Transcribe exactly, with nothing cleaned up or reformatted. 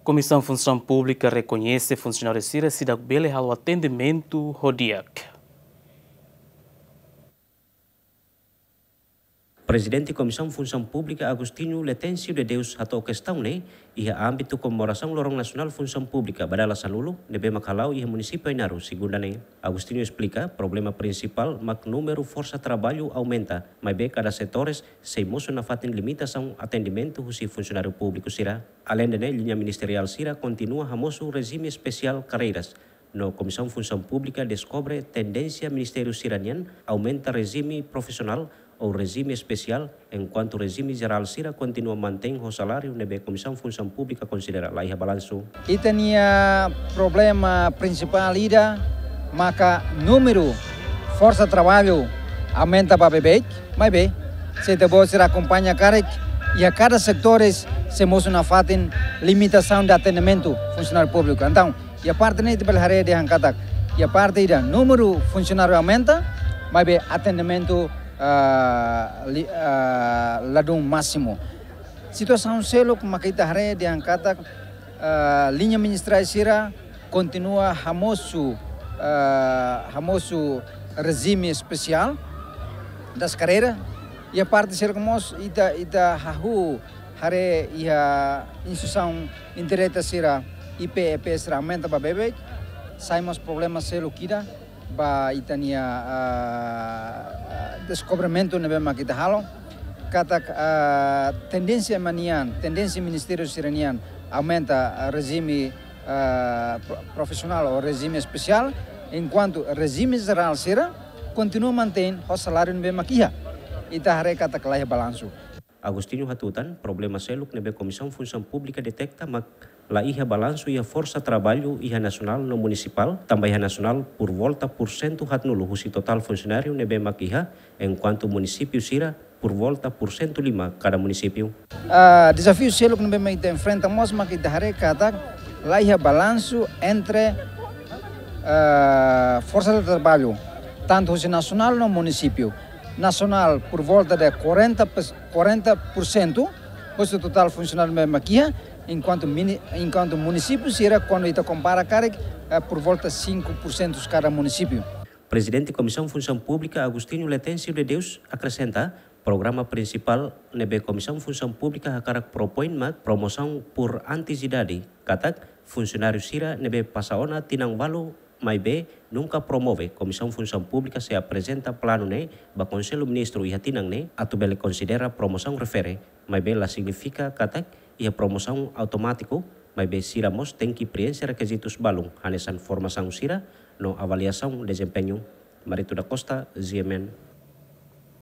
Komisaun Funsaun Públika rekoñese funsionáriu sira seidauk bele halo atendimentu ho di'ak. Prezidente Komisaun Funsaun Públika Agostinho Letêncio de Deus hato'o kestaun ne'e iha ámbitu komemorasaun Loron Nasionál Funsaun Públika ba dala sanulu ne'ebé mak hala'o iha munisípiu Ainaro, segunda ne'e. Agostinho esplika, problema prinsipál mak númeru forsa traballu aumenta, maibé kada setores sei mosu nafatin limitasaun atendimentu husi funsionáriu públiku sira. Aleinde ne'e, liña ministeriál sira kontinua hamosu rejime espesiál karreiras, no Komisaun Funsaun Públika deskobre tendénsia ministériu sira-nian aumenta rejime profisionál ou rejime espesiál, enkuantu rejime jerál sira kontinua mantein ho saláriu ne'ebé Komisaun Funsaun Públika konsidera la iha balansu. Ita-nia problema prinsipál ida maka númeru forsa traballu aumenta ba beibeik, maibé, se ita-boot sira akompaña karik, iha kada setores sei mosu nafatin limitasaun de atendimentu funsionáriu públiku. Entaun, iha parte ne'e ita bele haree dehan katak, iha parte ida númeru funsionáriu aumenta, maibé atendimentu, ah, li-, ah, ladún másimu. Situasaun seluk maka ita haree dehan katak, ah, liña ministeriál sira kontinua hamosu, ah, hamosu rejime espesiál das karreiras. Iha parte seluk mós ita, ita hahú haree iha instituisaun indireta sira, I P, E P sira aumenta ba beibeik, sai mós problema seluk ida ba ita-nia, ah, ah, deskobrimentu ne'ebé mak ita halo. Katak, ah, tendénsia ema nian, tendénsia ministériu sira-nian aumenta, ah, rejime, ah, pro-, profisionál ou rejime espesiál, enkuantu rejime jerál sira kontinua mantein ho saláriu ne'ebé mak iha. Ita haree katak la iha balansu. Agostinho hatutan, problema seluk ne'ebé Komisaun Funsaun Públika detekta mak la iha balansu iha forsa traballu iha nasionál no munisipál, tanba iha nasionál purvolta pursentu haatnulu husi totál funsionáriu ne'ebé mak iha, enkuantu munisípiu sira purvolta pursentu lima kada munisípiu. Ah, dezafiu seluk ne'ebé mak ita enfrenta mós mak ita haree katak la iha balansu entre, ah, forsa de traballu, tantu husi nasionál no munisípiu. Nasionál purvolta de quarenta, quarenta por cento husi totál funsionáriu ne'ebé mak iha, enkuantu mini-, enkuantu munisípiu sira, kuandu ita kompara karik, eh, purvolta cinco por cento kada munisípiu. Prezidente Komisaun Funsaun Públika Agostinho Letêncio de Deus akresenta, programa prinsipál ne'ebé Komisaun Funsaun Públika hakarak propoin mak promosaun por antigüidade, katak funsionáriu sira ne'ebé pasa ona tinan ualu maibé nunka promove. Komisaun Funsaun Públika sei aprezenta planu ne'e ba Konsellu Ministru iha tinan ne'e atu bele konsidera promosaun refere, maibé la signifika katak iha promosaun automátiku, maibé sira mós tenke prienxe rekizitus balun, hanesan formasaun sira no avaliasaun dezempeñu. Marito da Costa, G M N,